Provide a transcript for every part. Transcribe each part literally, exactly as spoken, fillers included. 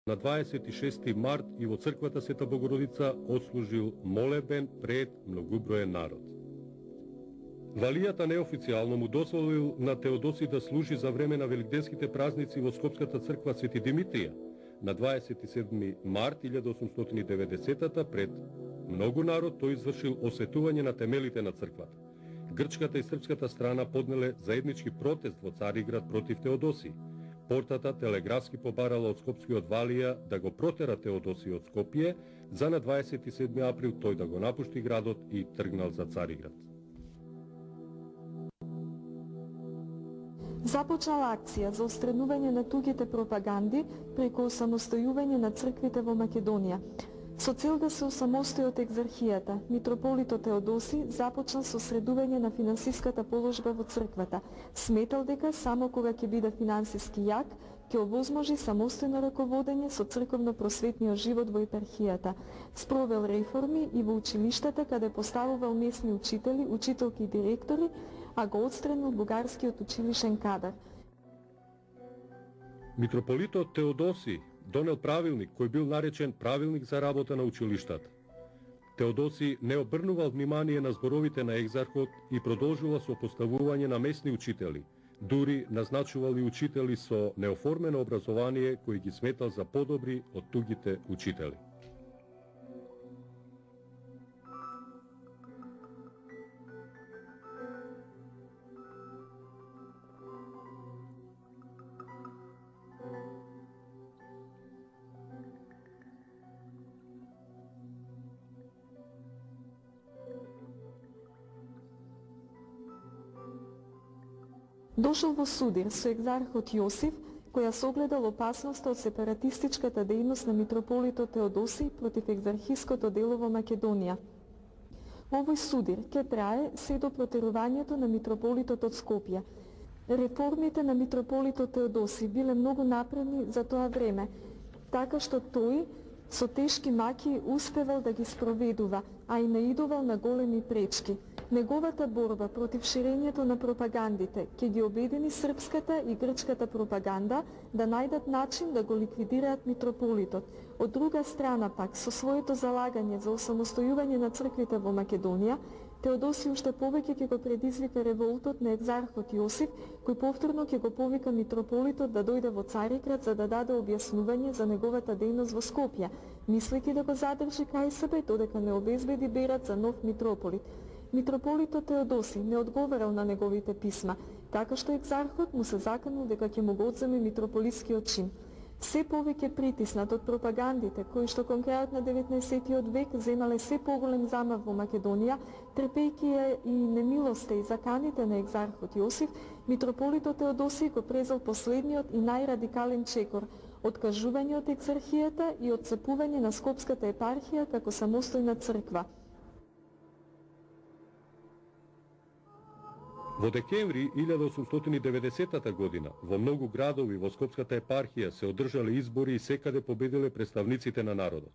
На дваесет и шести март и во црквата Света Богородица отслужил молебен пред многуброен народ. Валијата неофицијално му дозволил на Теодоси да служи за време на великденските празници во Скопската црква Свети Димитрија на дваесет и седми март илјада осумстотини и деветдесетата пред многу народ тој извршил осветување на темелите на црквата. Грчката и српската страна поднеле заеднички протест во Цариград против Теодоси. Портата телеграфски побарала од скопскиот Валија да го протера Теодоси од Скопје, за на дваесет и седми април тој да го напушти градот и тргнал за Цариград. Започнала акција за устранување на тугите пропаганди преку самостојување на црквите во Македонија. Со цел да се осамостои од екзархијата, митрополитот Теодоси започнал со средување на финансиската положба во црквата. Сметал дека само кога ќе биде финансиски јак, ќе овозможи самостојно раководење со црковно-просветниот живот во епархијата. Спровел реформи и во училиштата, каде поставувал местни учители, учителки и директори, а го отстранил бугарскиот училишен кадар. Митрополитот Теодоси донел правилник кој бил наречен Правилник за работа на училиштата. Теодоси не обрнувал внимание на зборовите на екзархот и продолжува со поставување на местни учители. Дури назначувал и учители со неоформено образование кои ги сметал за подобри од тугите учители. Дошол во судир со екзархот Јосиф, која согледал опасноста од сепаратистичката дејност на митрополитот Теодоси против екзархиското дело во Македонија. Овој судир ќе трае се до протерувањето на митрополитот од Скопје. Реформите на митрополитот Теодоси биле многу напредни за тоа време, така што тој со тешки маки успевал да ги спроведува, а и наидувал на големи пречки. Неговата борба против ширењето на пропагандите ќе ги обедини српската и грчката пропаганда да најдат начин да го ликвидираат митрополитот. Од друга страна пак, со своето залагање за осамостојување на црквите во Македонија, Теодоси уште повеќе ќе го предизвика револтот на екзархот Јосиф, кој повторно ќе го повика митрополитот да дојде во Цариград за да даде објаснување за неговата дејност во Скопје, мислејќи да го задржи кај себе додека не обезбеди берат за нов митрополит. Митрополитот Теодоси не одговарал на неговите писма, така што екзархот му се заканул дека ќе му го одземе митрополискиот чин. Се повеќе притиснат од пропагандите, кои што кон крајот на деветнаесеттиот век земале се поголем замав во Македонија, трпејќи ја и немилоста и заканите на екзархот Јосиф, митрополитот Теодоси го презел последниот и најрадикален чекор – откажување од екзархијата и отцепување на Скопската епархија како самостојна црква. Во декември илјада осумстотини и деветдесетата година во многу градови во Скопската епархија се одржале избори и секаде победиле представниците на народот.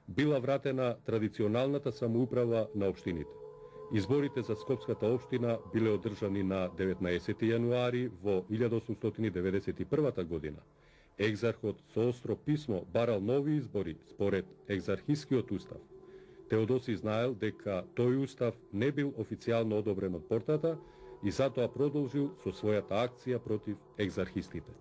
Била вратена традиционалната самоуправа на општините. Изборите за Скопската општина биле одржани на деветнаесети јануари во илјада осумстотини и деветдесет и првата година. Екзархот со остро писмо барал нови избори според екзархискиот устав. Теодоси знаел дека тој устав не бил официјално одобрен од портата и затоа продолжил со својата акција против екзархистите.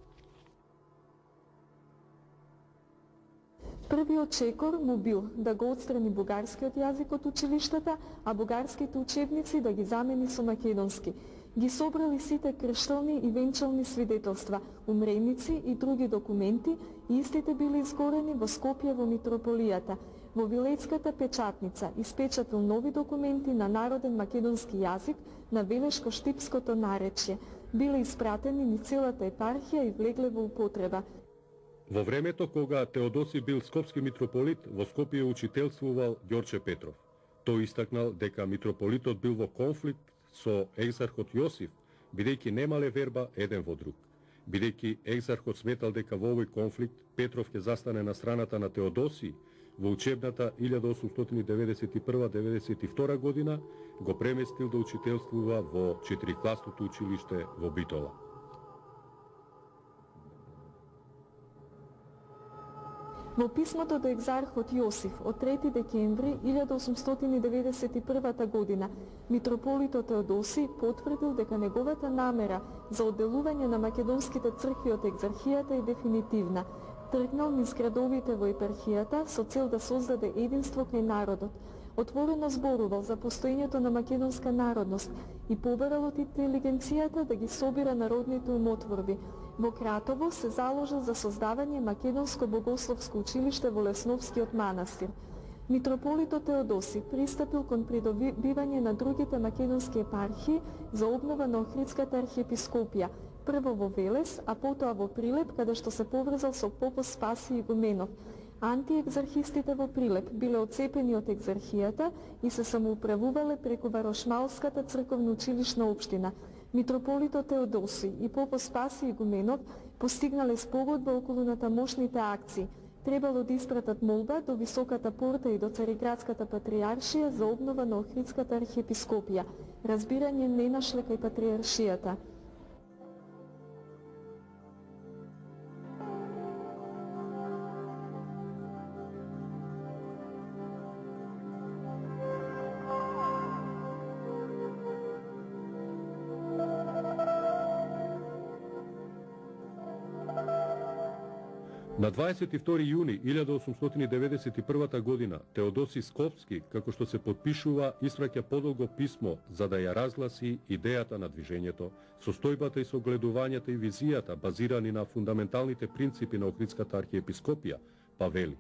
Првиот чекор му бил да го отстрани бугарскиот јазик од училиштата, а бугарските учебници да ги замени со македонски. Ги собрали сите крштални и венчални свидетелства, умреници и други документи, и истите били изгорени во Скопје во митрополијата. Во Вилецката печатница испечатил нови документи на народен македонски јазик на велешко-штипското наречје. Биле испратени ни целата епархија и влегле во употреба. Во времето кога Теодоси бил скопски митрополит, во Скопје учителствувал Ѓорче Петров. Тој истакнал дека митрополитот бил во конфликт со екзархот Јосиф, бидејќи немале верба еден во друг. Бидејќи екзархот сметал дека во овој конфликт Петров ќе застане на страната на Теодоси, во учебната илјада осумстотини деветдесет и прва до деветдесет и втора година го преместил да учителствува во четирикласното училиште во Битола. Во писмото до екзархот Јосиф од трети декември илјада осумстотини и деветдесет и прва година, митрополитот Теодосиј потврдил дека неговата намера за одделување на македонските цркви од екзархијата е дефинитивна. Тргнал низ градовите во епархијата со цел да создаде единство кај народот. Отворено зборувал за постоењето на македонска народност и побарал од интелигенцијата да ги собира народните умотворби. Во Кратово се заложил за создавање македонско богословско училиште во Лесновскиот манастир. Митрополитот Теодосиј пристапил кон придобивање на другите македонски епархии за обнова на Охридската архиепископија, прво во Велес, а потоа во Прилеп, каде што се поврзал со попот Спасиј Игуменов. Антиекзархистите во Прилеп биле отцепени од екзархијата и се самоуправувале преку Варошмалската црковна училишна општина. Митрополитот Теодосиј и попот Спасиј Игуменов постигнале спогодба околу натамошните акции. Требало да испратат молба до Високата порта и до Цариградската патријаршија за обнова на Охридската архиепископија. Разбирање не нашле кај патријаршијата. На дваесет и втори јуни илјада осумстотини и деветдесет и прва година Теодосиј Скопски, како што се подпишува, испраќа подолго писмо за да ја разгласи идејата на движењето, состојбата и согледувањата и визијата базирани на фундаменталните принципи на Охридската архиепископија, па вели: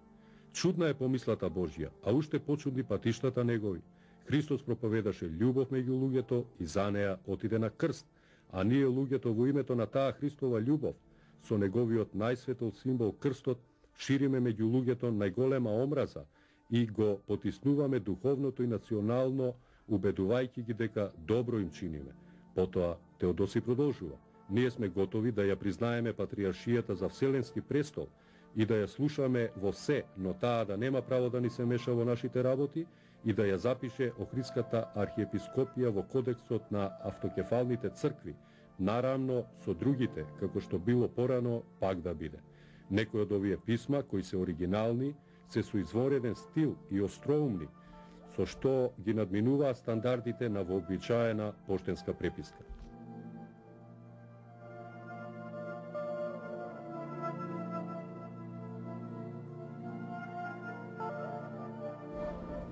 чудна е помислата Божја, а уште почудни патиштата негови. Христос проповедаше љубов меѓу луѓето и за неа отиде на крст, а ние луѓето во името на таа Христова љубов со неговиот најсветол символ крстот шириме меѓу луѓето најголема омраза и го потиснуваме духовното и национално, убедувајќи ги дека добро им чиниме. Потоа Теодосиј продолжува: ние сме готови да ја признаеме патријаршијата за вселенски престол и да ја слушаме во се, но таа да нема право да ни се меша во нашите работи и да ја запише Охридската архиепископија во кодексот на автокефалните цркви, наравно со другите, како што било порано, пак да биде. Некои од овие писма, кои се оригинални, се со извореден стил и остроумни, со што ги надминуваа стандардите на вообичаена поштенска преписка.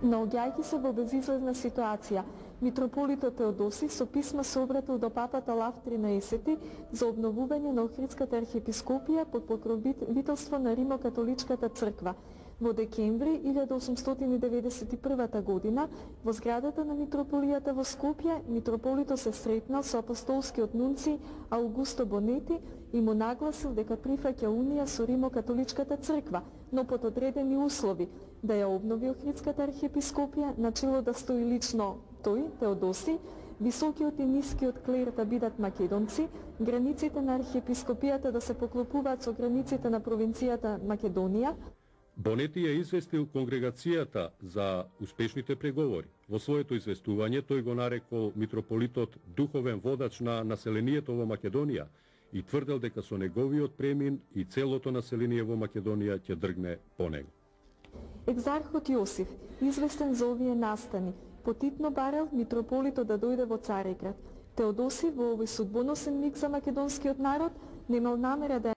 Наоѓајќи се во безизлезна ситуација, митрополитот Теодосиј со писма се обратил до папата Лав тринаесети за обновување на Охридската архиепископија под покровителство на Римо-католичката црква. Во декември илјада осумстотини и деветдесет и прва година, во зградата на митрополијата во Скопје, митрополитот се сретнал со апостолскиот нунци Аугусто Бонети и му нагласил дека прифаќа унија со Римо-католичката црква, но под одредени услови, да ја обнови Охридската архиепископија, начело да стои лично тој, Теодосиј, високиот и нискиот клер да бидат македонци, границите на архиепископијата да се поклопуваат со границите на провинцијата Македонија. Бонети ја известил конгрегацијата за успешните преговори. Во своето известување тој го нарекол митрополитот духовен водач на населението во Македонија и тврдел дека со неговиот премин и целото население во Македонија ќе дргне по него. Екзархот Јосиф, известен за овие настани, потитно барел митрополитот да дојде во Цариград. Теодосиј во овој судбоносен миг за македонскиот народ немал намера да